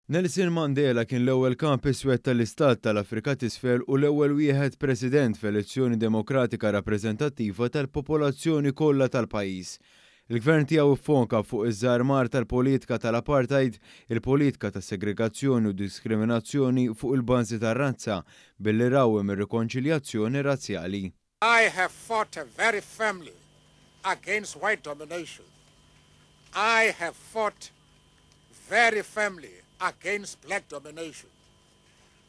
Nelson Mandela kien l-ewwel kap iswed tal-Istat tal-Afrika t'Isfel u l-ewwel wieħed president f'elezzjoni demokratika rappreżentattiva tal-popolazzjoni kollha tal-pajjiż. Il-gvern tiegħu ffoka fuq iż-żarmar tal-politika tal-apartheid, il-politika ta' segregazzjoni u diskriminazzjoni fuq il-bażi tar-razza, billi rawwem ir-rikonċiljazzjoni razzjali. I have fought very firmly against white domination. I have fought very firmly against black domination.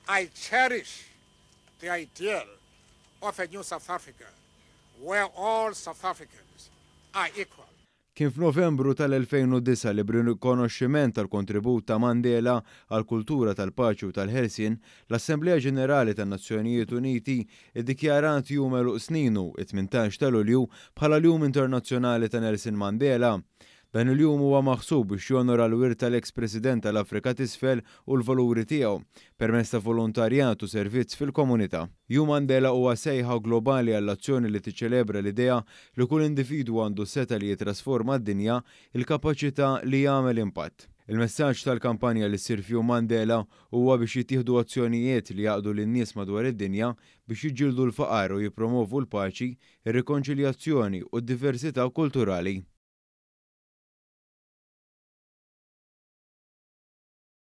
I cherish the ideal of a new South Africa where all South Africans are equal. Kien f'Novembru tal-2009 li b'rikonoxximent tal-kontribut ta' Mandela għall-kultura tal-paċi u tal-ħelsien, l-Assemblea Ġenerali tan-Nazzjonijiet Uniti iddikjarat jum għeluq sninu, it-18 ta' Lulju, bħala l-Jum Internazzjonali ta' Nelson Mandela. Dan il-jum huwa maħsub biex jonora l-wirt tal-eks President tal-Afrika t'Isfel u l-valuri tiegħu permezz ta' volontarjat u servizz fil-komunità. Jum Mandela huwa sejħa globali għall-azzjoni li tiċċelebra l-idea li kull individwu għandu setgħa li jitrasforma d-dinja, il-kapaċità li jagħmel impatt. Il-messaġġ tal-kampanja li ssir f'Jum Mandela huwa biex jittieħdu azzjonijiet li jgħaqqdu lin-nies madwar id-dinja biex jiġġieldu l-faqar u jippromovu l-paċi, ir-rikonċiljazzjoni u d-diversità kulturali.